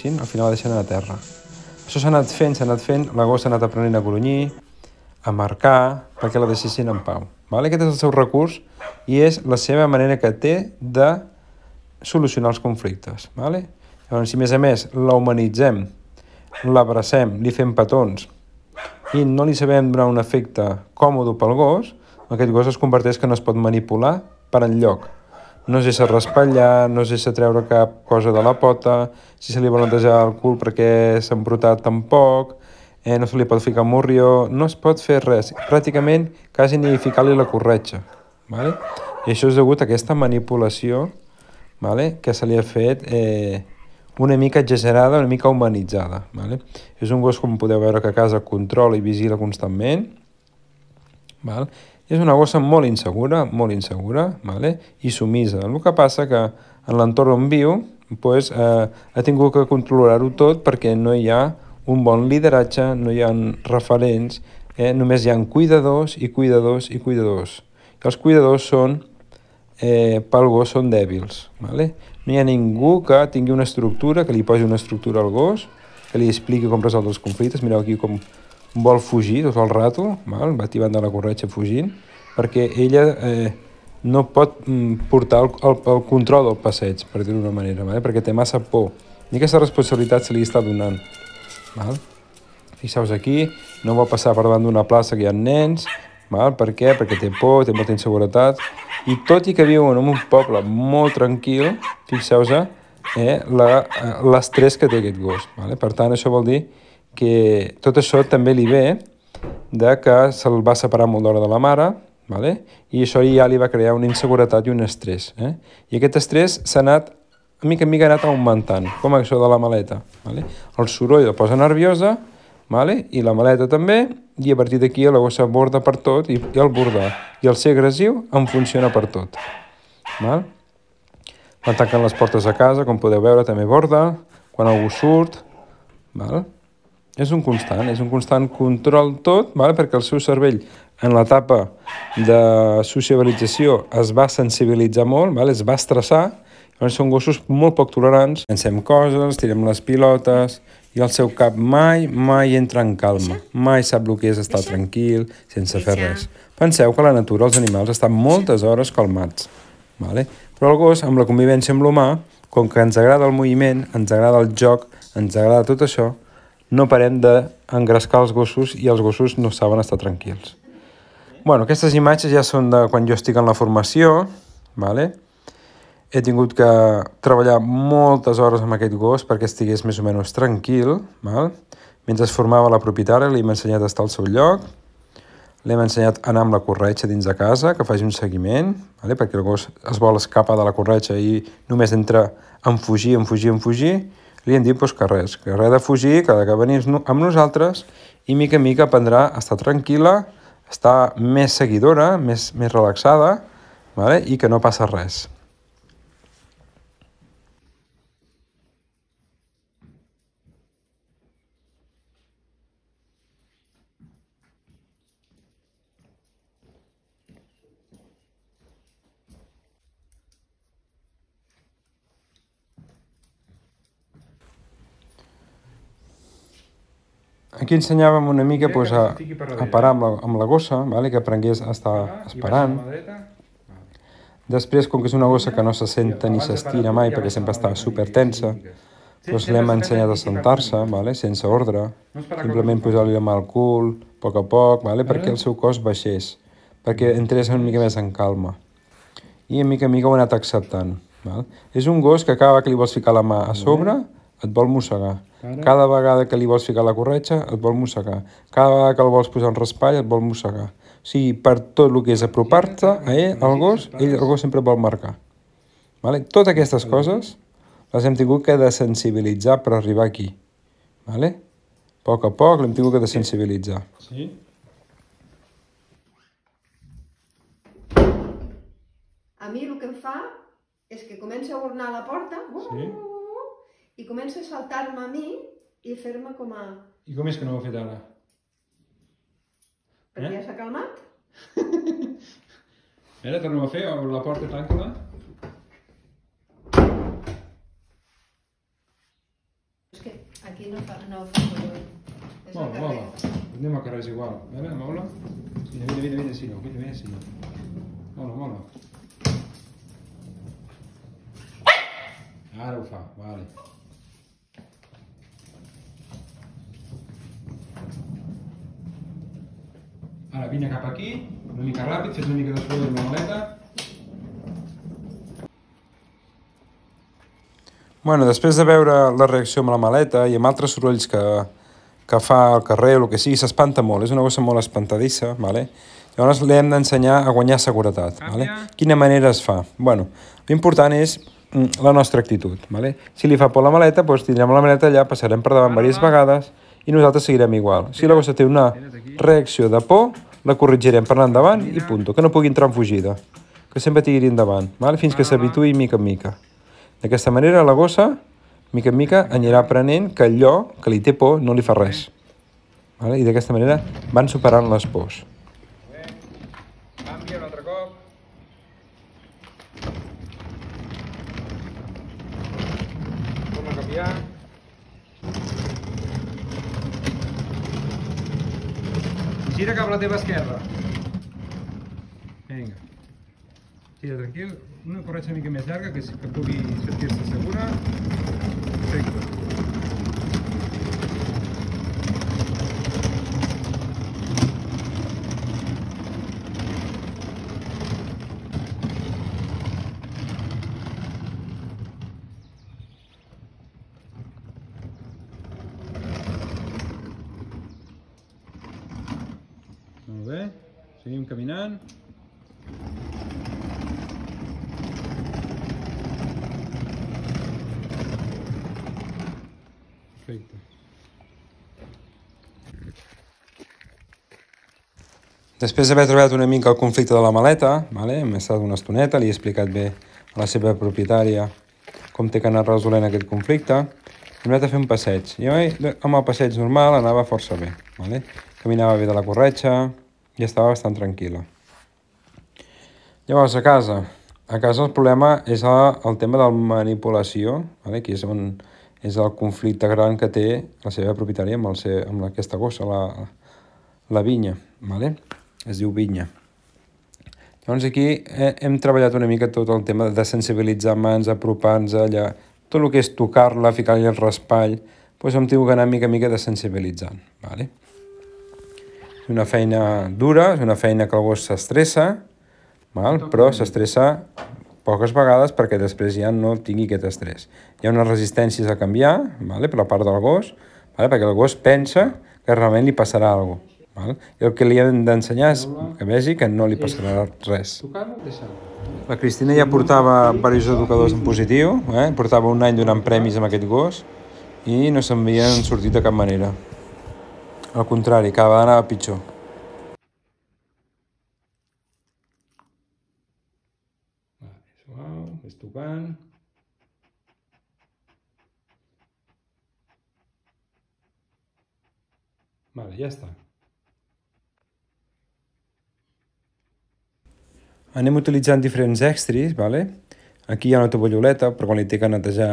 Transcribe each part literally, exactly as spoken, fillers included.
Al final la deixen a terra. Això s'ha anat fent, s'ha anat fent, la gos s'ha anat aprenent a grunyir, a marcar, perquè la deixessin en pau. Aquest és el seu recurs i és la seva manera que té de solucionar els conflictes. Llavors, si a més a més la humanitzem, l'abracem, li fem petons i no li sabem donar un efecte còmode pel gos, aquest gos es converteix que no es pot manipular per enlloc. No es deixa raspallar, no es deixa treure cap cosa de la pota, si se li vol netejar el cul perquè s'ha embrutat tampoc, eh, no se li pot ficar morrió, no es pot fer res, pràcticament quasi ni ficar-li la corretja. Vale? I això és degut a aquesta manipulació, vale, que se li ha fet eh, una mica exagerada, una mica humanitzada. Vale? És un gos, com podeu veure, que a casa controla i vigila constantment. Val? És una gossa molt insegura, molt insegura, vale? I sumisa. El que passa que en l'entorn on viu pues, eh, ha tingut que controlar-ho tot perquè no hi ha un bon lideratge, no hi ha referents, eh? Només hi ha cuidadors i cuidadors i cuidadors. I els cuidadors són, eh, pel gos són dèbils. Vale? No hi ha ningú que tingui una estructura, que li posi una estructura al gos, que li expliqui com resoldre els conflictes. Mireu aquí com vol fugir tot el rato, val? Va tibant de la corretja fugint, perquè ella eh, no pot mm, portar el, el, el control del passeig, per dir-ho d'una manera, vale? Perquè té massa por. I aquesta responsabilitat se li està donant. Val? Fixeu-vos aquí, no vol passar per davant d'una plaça que hi ha nens, val? Per què? Perquè té por, té molta inseguretat, i tot i que viuen en un poble molt tranquil, fixeu-vos eh, l'estrès que té aquest gos. Vale? Per tant, això vol dir que tot això també li ve de que se'l va separar molt d'hora de la mare, vale? I això ja li va crear una inseguretat i un estrès. Eh? I aquest estrès s'ha anat, a mica en mica, ha anat augmentant, com això de la maleta. Vale? El soroll la posa nerviosa, vale? I la maleta també, i a partir d'aquí la gossa borda per tot, i, i el bordar. I el ser agressiu en funciona per tot. Val? Quan tanquen les portes a casa, com podeu veure, també borda, quan algú surt, val? És un constant, és un constant control tot, vale? Perquè el seu cervell en l'etapa de sociabilització es va sensibilitzar molt, vale? Es va estressar, llavors són gossos molt poc tolerants. Pensem coses, tirem les pilotes, i el seu cap mai, mai entra en calma, mai sap el que és estar tranquil, sense fer res. Penseu que a la natura els animals estan moltes hores calmats, vale? Però el gos, amb la convivència amb l'humà, com que ens agrada el moviment, ens agrada el joc, ens agrada tot això, no parem d'engrescar els gossos i els gossos no saben estar tranquils. Bueno, aquestes imatges ja són de quan jo estic en la formació, vale? He tingut que treballar moltes hores amb aquest gos perquè estigués més o menys tranquil, val? Mentre es formava la propietària li hem ensenyat a estar al seu lloc, l'hem ensenyat a anar amb la corretja dins de casa, que faci un seguiment, vale? Perquè el gos es vol escapar de la corretja i només entra en fugir, en fugir, en fugir. Li hem dit pues, que res, que res de fugir, que ha de venir amb nosaltres i mica en mica aprendrà a estar tranquil·la, estar més seguidora, més, més relaxada, vale? I que no passa res. Aquí ensenyàvem una mica pues, a, a parar amb la, amb la gossa, vale? Que aprengués a estar esperant. Després, com que és una gossa que no se senta ni s'estira mai perquè sempre està super tensa, doncs l'hem ensenyat a sentar-se, vale? Sense ordre, simplement posar-li la mà al cul, a poc a poc, vale? Perquè el seu cos baixés, perquè entrés una mica més en calma. I a mica a mica ho ha anat acceptant. Val? És un gos que cada vegada que li vols ficar la mà a sobre et vol mossegar. Cada vegada que li vols ficar la corretja et vol mossegar. Cada vegada que el vols posar en raspall et vol mossegar. O sigui, per tot el que és apropar-te a ell, al gos, ell, el gos sempre et vol marcar. Vale? Totes aquestes coses les hem tingut que desensibilitzar per arribar aquí. Vale? A poc a poc l'hem tingut que desensibilitzar. Sí. A mi el que em fa és que comença a ornar a la porta, sí, i comença a saltar-me a mi i fer-me com a... I com és que no ho ha fet ara? Perquè eh? Ja s'ha calmat. Ara tornem a fer, obre la porta, tanca-la. aquí no fa, no fa soroll. És Mola, al carrer. mola. Anem al carrer, és igual. A veure, mola. Vine, vine, vine, vine, si no, vine, vine, si no. Mola, mola. Ara ho fa, vale. Ara vine cap aquí, una mica ràpid, fes una mica de soroll amb la maleta. Bueno, després de veure la reacció amb la maleta i amb altres sorolls que, que fa al carrer o el que sigui, s'espanta molt, és una gossa molt espantadissa, vale? Llavors li hem d'ensenyar a guanyar seguretat. Vale? Quina manera es fa? Bueno, l'important és la nostra actitud. Vale? Si li fa por la maleta, doncs tindrem la maleta allà, passarem per davant diverses vegades i nosaltres seguirem igual. Si la gossa té una reacció de por, la corregirem per anar endavant i punt, que no pugui entrar en fugida, que sempre tiri endavant, vale? Fins que s'habituï mica en mica. D'aquesta manera la gossa, mica en mica, anirà aprenent que allò que li té por no li fa res. Vale? I d'aquesta manera van superant les pors. Canvia un altre cop. Torna a canviar. Gira cap a la teva esquerra. Vinga. Gira tranquil. Una corretja una mica més llarga, que, que pugui sentir-se segura. Perfecte. Molt bé, seguim caminant. Perfecte. Després d'haver trobat una mica el conflicte de la maleta, vale? Hem estat una estoneta, li he explicat bé a la seva propietària com té que anar resolent aquest conflicte. Hem anat a fer un passeig. Jo amb el passeig normal anava força bé. Vale? Caminava bé de la corretja i estava bastant tranquil·la. Llavors, a casa. A casa el problema és el tema de la manipulació, vale? Que és on és el conflicte gran que té la seva propietària amb, el seu, amb aquesta gossa, la, la vinya. Vale? Es diu vinya. Llavors aquí hem treballat una mica tot el tema de sensibilitzar mans, apropar-nos allà, tot el que és tocar-la, ficar-li el raspall, doncs hem tingut que anar mica a mica desensibilitzant. Vale? És una feina dura, és una feina que el gos s'estressa, però s'estressa poques vegades perquè després ja no tingui aquest estrès. Hi ha unes resistències a canviar, vale, per la part del gos, vale, perquè el gos pensa que realment li passarà alguna cosa. Vale? I el que li hem d'ensenyar és que vegi que no li passarà res. La Cristina ja portava diversos educadors en positiu, eh? Portava un any donant premis amb aquest gos i no se'n havien sortit de cap manera. Al contrari, cada vegada anava pitjor. Suau, ves tocant. Vale, ja està. Anem utilitzant diferents extris, vale? Aquí hi ha una tovalloleta, per quan li té que netejar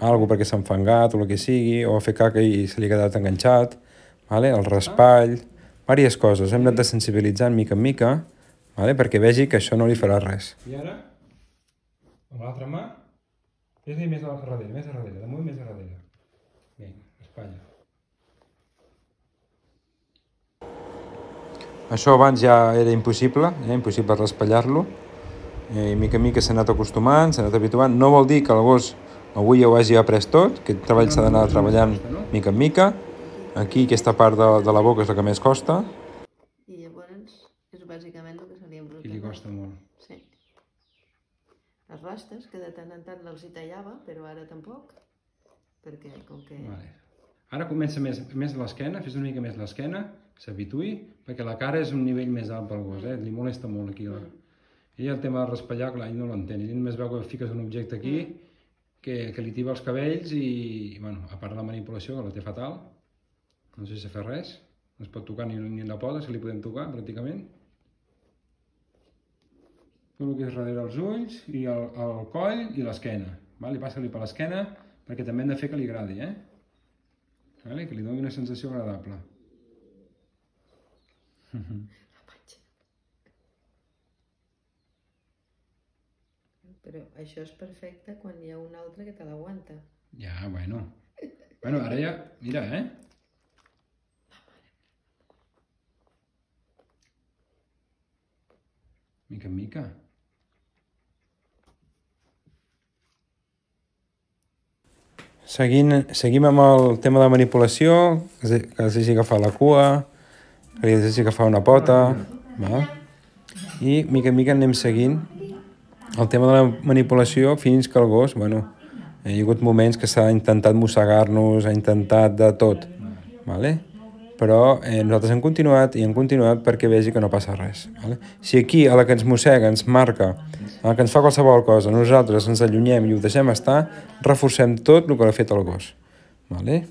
alguna cosa perquè s'ha enfangat o el que sigui, o fer caca i se li ha quedat enganxat, vale? El raspall, diverses coses. Hem anat desensibilitzant mica en mica, vale? Perquè vegi que això no li farà res. I ara, amb l'altra mà, fes-li més a darrere, més a darrere, damunt més a darrere. Vinga, espatlla. Això abans ja era impossible, eh? Impossible raspallar-lo. I mica en mica s'ha anat acostumant, s'ha anat habituant. No vol dir que el gos avui ja ho hagi après tot, aquest treball s'ha d'anar treballant mica en mica. Aquí aquesta part de, de la boca és la que més costa. I llavors és bàsicament el que se li embruta. I li costa molt. Sí. Les rastes, que de tant en tant els hi tallava, però ara tampoc, perquè com que... Vale. Ara comença més, més l'esquena, fes una mica més l'esquena, s'habituï, perquè la cara és un nivell més alt pel gos, eh? Li molesta molt aquí. La... I el tema de raspallar, clar, ell no l'entén. Ell només veu que fiques un objecte aquí, que, que li tiba els cabells i, bueno, a part de la manipulació, que la té fatal, no sé si s'ha fet res, no es pot tocar ni, ni la poda, si li podem tocar, pràcticament. Tot el que és darrere els ulls, i el, el coll i l'esquena. Vale? Passa-li per l'esquena, perquè també hem de fer que li agradi, eh? vale? Que li doni una sensació agradable. Però això és perfecte quan hi ha un altre que te l'aguanta. Ja, bueno. Bueno, ara ja... Mira, eh? Mica en mica. Seguint, seguim amb el tema de manipulació, que els hagi agafat la cua, que li hagi agafat una pota, va? I mica en mica anem seguint el tema de la manipulació fins que el gos, bueno, hi ha hagut moments que s'ha intentat mossegar-nos, ha intentat de tot, vale? Però eh, nosaltres hem continuat i hem continuat perquè vegi que no passa res. Vale? Si aquí a la que ens mossega ens marca, a la que ens fa qualsevol cosa, nosaltres ens allunyem i ho deixem estar, reforcem tot el que ha fet el gos. Vale?